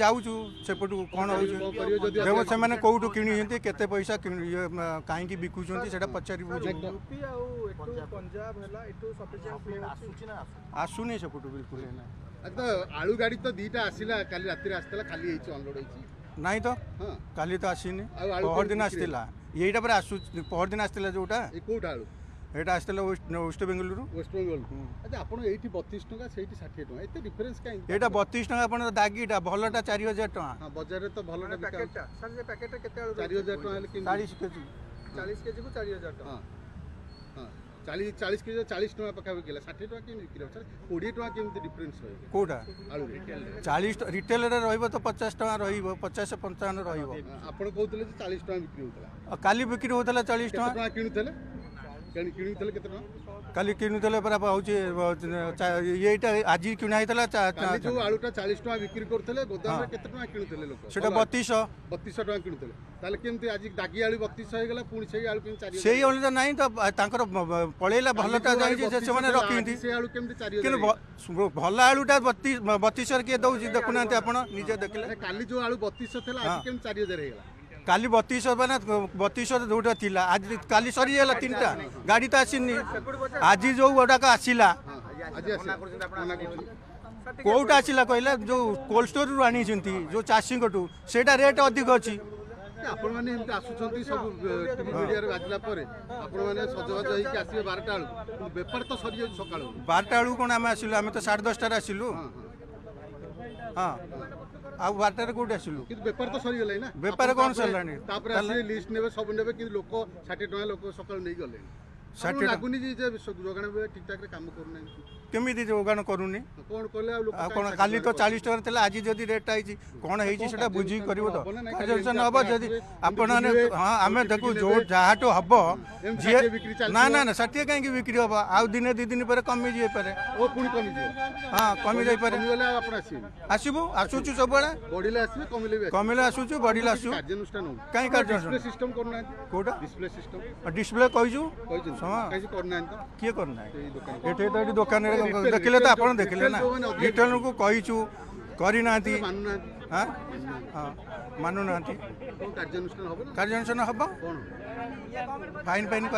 ଯାଉଛୁ ସେପଟୁ କ'ଣ ହେଉଛି ଦେବ, ସେମାନେ କେଉଁଠୁ କିଣିଛନ୍ତି, କେତେ ପଇସା, କାହିଁକି ବିକୁଛନ୍ତି ସେଇଟା ପଚାରିବୁ। ଆସୁନି ସେପଟୁ ବିଲକୁଲ। ଆଳୁ ଗାଡ଼ି ତ 2ଟା ଆସିଲା କାଲି ରାତିରେ, ଆସିଥିଲା, ଖାଲି ହେଇଛି, ଅନଲୋଡ୍ ହେଇଛି? ନାଇଁ ତ, କାଲି ତ ଆସିନି, ପହରଦିନ ଆସିଥିଲା। ଏଇଟା ପରେ ଆସୁ ପହରଦିନ ଆସିଥିଲା ଯୋଉଟା। କୋଉଟା ଆଳୁ? ଏଇଟା ଆସିଥିଲା ୱେଷ୍ଟ ବେଙ୍ଗଲରୁ। ୱେଷ୍ଟ ବେଙ୍ଗଲ। ଆଚ୍ଛା, ଆପଣ ଏଇଠି 32 ଟଙ୍କା, ସେଇଠି 60 ଟଙ୍କା, ଏତେ ଡିଫରେନ୍ସ କାହିଁକି? ଏଇଟା 32 ଟଙ୍କା ଆପଣ, ଦାଗିଟା, ଭଲଟା 4000 ଟଙ୍କା। ବଜାରରେ ତ ଭଲଟା। ସାର୍, ସେ ପ୍ୟାକେଟରେ କେତେ ଆଳୁ? 4000 ଟଙ୍କା ହେଲେ? 40 କେଜି। 40 କେଜିକୁ 4000 ଟଙ୍କା। ହଁ, 40 କେଜି 40 ଟଙ୍କା ପାଖାପାଖି ହେଲା। 60 ଟଙ୍କା କେମିତି ବିକ୍ରି ହେବ ସାର୍? 20 ଟଙ୍କା କେମିତି ଡିଫରେନ୍ସ ରହିବ? କୋଉଟା? ଆଳୁ 40 ରିଟେଲରେ ରହିବ ତ 50 ଟଙ୍କା ରହିବ, 50 55 ରହିବ। ଆପଣ କହୁଥିଲେ ଯେ 40 ଟଙ୍କା ବିକ୍ରି ହେଉଥିଲା। କାଲି ବିକ୍ରି ହେଉଥିଲା 40 ଟଙ୍କା। ଟଙ୍କା କିଣୁଥିଲେ? କିଣୁଥିଲେ କେତେ ଟଙ୍କା କାଲି? କିଣୁଥିଲେ ପରା ହେଉଛି ଏଇଟା ଆଜି କିଣା ହେଇଥିଲା। ଯୋଉ ଆଳୁଟା 40 ଟଙ୍କା ବିକ୍ରି କରୁଥିଲେ ଗୋଦାମରେ, କେତେ ଟଙ୍କା କିଣୁଥିଲେ ଲୋକ? ସେଟା 3200। 3200 ଟଙ୍କା କିଣୁଥିଲେ। ତାହେଲେ କେମିତି ଆଜି ଦାଗି ଆଳୁ 3200 ହେଇଗଲା, ପୁଣି ସେଇ ଆଳୁ କେମିତି 4? ସେଇ ଆଳୁ ତ ନାହିଁ ତ, ତାଙ୍କର ପଳେଇଲା। ଭଲଟା ଯାଇଛି, ସେମାନେ ରଖିଛନ୍ତି। ସେ ଆଳୁ କେମିତି 4? କିନ୍ତୁ ଭଲ ଆଳୁଟା 3200ରେ କିଏ ଦଉଛି? ଦେଖୁନାହାନ୍ତି ଆପଣ ନିଜେ ଦେଖିଲେ। କାଲି ଯୋଉ ଆଳୁ 3200 ଥିଲା, ଆଜି କେମିତି 4000 ହେଇଗଲା? କାଲି 3200 ମାନେ 3200 ଯୋଉଟା ଥିଲା, ଆଜି କାଲି ସରିଗଲା 3ଟା ଗାଡ଼ି ତ ଆସିନି। ଆଜି ଯୋଉ ଗୁଡ଼ାକ ଆସିଲା, କୋଉଟା ଆସିଲା କହିଲେ ଯୋଉ କୋଲ୍ଡ ଷ୍ଟୋରରୁ ଆଣିଛନ୍ତି ଯୋଉ ଚାଷୀଙ୍କଠୁ, ସେଇଟା ରେଟ୍ ଅଧିକ ଅଛି। ଆପଣମାନେ ଏମିତି ଆସୁଛନ୍ତି, ସବୁ ଟିଭି ମିଡ଼ିଆରେ ବାଜିଲା ପରେ ଆପଣମାନେ ସଜବାଜ ହେଇକି ଆସିବେ 12ଟା ବେଳକୁ, ବେପାର ତ ସରିଯାଉଛି ସକାଳୁ। 12ଟା ବେଳକୁ କ'ଣ ଆମେ ଆସିଲୁ? ଆମେ ତ 10:30ରେ ଆସିଲୁ। ହଁ, ଆଉ 12ଟାରେ କୋଉଠି ଆସିଲୁ? କିନ୍ତୁ ବେପାର ତ ସରିଗଲାଣି ନା? ବେପାର କ'ଣ ସରିଲାଣି? ତାପରେ ଆସିବେ, ଲିଷ୍ଟ ନେବେ, ସବୁ ନେବେ, କିନ୍ତୁ ଲୋକ 60 ଟଙ୍କା ଲୋକ ସକାଳୁ ନେଇ ଗଲେଣି। 60 ଲାଗୁନି ଯେ ଯୋଗାଣ ଠିକ୍ ଠାକ୍ରେ କାମ କରୁନାହିଁ? କେମିତି ଯୋଗାଣ କରୁନି? କ'ଣ କଲେ ଆଉ କ'ଣ? କାଲି ତ 40 ଟଙ୍କାରେ ଥିଲା, ଆଜି ଯଦି ରେଟ୍ଟା ହେଇଛି, କ'ଣ ହେଇଛି ସେଟା ବୁଝିକି କରିବ ତ କାର୍ଯ୍ୟାନୁଷ୍ଠାନ ହବ ଯଦି ଆପଣମାନେ। ହଁ, ଆମେ ଦେଖୁ ଯୋଉ ଯାହାଠୁ ହବ ଯିଏ। ନା ନା ନା, 60 କାହିଁକି ବିକ୍ରି ହବ? ଆଉ ଦିନେ 2 ଦିନ ପରେ କମି ଯାଇପାରେ। ହଁ, କମି ଯାଇପାରେ। ଆସିବୁ, ଆସୁଛୁ ସବୁବେଳେ। କମିଲେ ଆସୁଛୁ, ବଢିଲେ ଆସୁ। କାହିଁ କାର୍ଯ୍ୟାନୁଷ୍ଠାନ? କୋଉଟା ଡିସପ୍ଲେ କହିଛୁ? କିଏ କରୁନାହିଁ ଏଠି ତ? ଏଠି ଦୋକାନରେ ଦେଖିଲେ ତ, ଆପଣ ଦେଖିଲେ ନା, ରିଟେଲରକୁ କହିଛୁ, କରିନାହାନ୍ତି। ହଁ, ମାନୁନାହାନ୍ତି। କାର୍ଯ୍ୟାନୁଷ୍ଠାନ ହବ, ଫାଇନ୍ ଫାଇନ୍ କରା।